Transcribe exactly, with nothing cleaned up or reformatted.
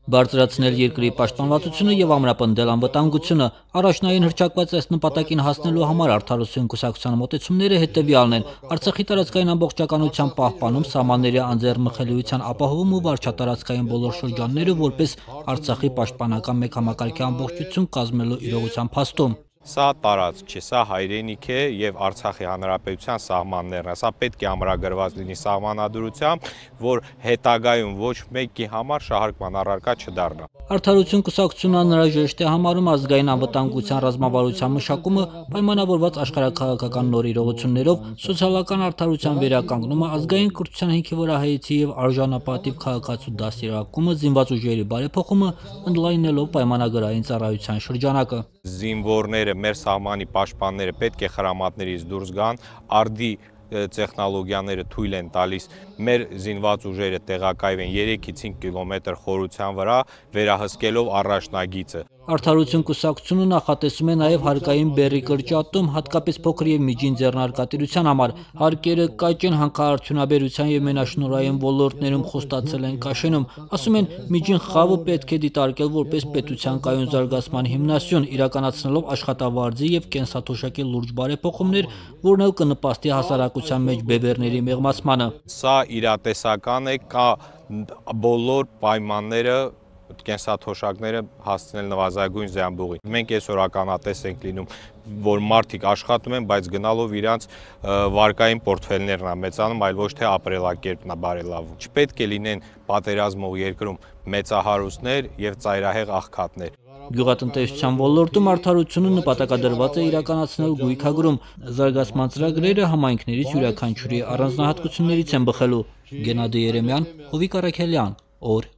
Բարձրացնել երկրի պաշտպանվածությունը եւ ամրապնդել անվտանգությունը։ Առաջնային հռչակված այս նպատակին հասնելու համար Արդարություն կուսակցության մոտեցումները հետեւյալն են. Արցախի տարածքային ամբողջականության պահպանում, սահմանների անձեռնմխելիության ապահովում ու վարչատարածքային բոլոր շրջանները որպես Արցախի պաշտպանական մեկ համակարգի ամբողջություն կազմելու իրողության փաստում։ Սա տարածք չէ, սա հայրենիք է եւ Արցախի հանրապետության սահմաններն են։ Սա պետք է ամրագրված լինի սահմանադրությամբ, որ հետագայում ոչ մեկի համար շահարկման առարկա չդառնա։ Արդարություն կուսակցությունը անհրաժեշտ է համարում ազգային անվտանգության ռազմավարության մշակումը, պայմանավորված աշխարհաքաղաքական նոր իրողություններով, սոցիալական արդարության վերականգնումը, ազգային կրթության հիմքի վրա հայեցի եւ արժանապատիվ քաղաքացու դաստիարակումը, զինված ուժերի բարեփոխումը, ընդլայնելով պայմանագրային ծառայության շրջանակը։ Զինվորները, մեր սահմանի պաշտպանները պետք է խրամատներից դուրս գան, արդի տեխնոլոգիաները թույլ են տալիս մեր զինված ուժերը տեղակայվեն երեքից հինգ կիլոմետր խորության վրա, վերահսկելով առաջնագիծը։ Արդարություն կուսակցությունը նախատեսում է նաև հարկային բեռի կրճատում, հատկապես փոքր եւ միջին ձեռնարկատիրության համար։ Հարկերը կաճ են, հանքարդյունաբերության եւ մենաշնորհային ոլորտներում խոստացել են կաշենում։ Ասում են, միջին խավը պետք է դիտարկել որպես պետության կայուն զարգացման հիմնասյուն, իրականացնելով աշխատավարձի եւ կենսաթոշակի լուրջ բարեփոխումներ, որն էլ կնպաստի հասարակության մեջ բևեռների մեղմացմանը։ Սա իրատեսական է, կա բոլոր պայմանները կենսաթոշակները հասցնել նվազագույն զամբուղի։ Մենք այսօր ականատես ենք լինում, որ մարդիկ աշխատում են, բայց գնալով իրանց վարկային պորտֆելներն է մեծանում, այլ ոչ թե ապրելակերպն է բարելավում։ Չպետք է լինեն պատերազմող երկրում մեծահարուստներ եւ ծայրահեղ աղքատներ։ Գյուղատնտեսության ոլորտում արդարությունը նպատակադրված է իրականացնել գույքագրում։ Զարգացման ծրագրերը համայնքներից յուրաքանչյուրի առանձնահատկություններից են բխելու։ Գենադի Երեմյան, Հովիկ Առաքելյան, օր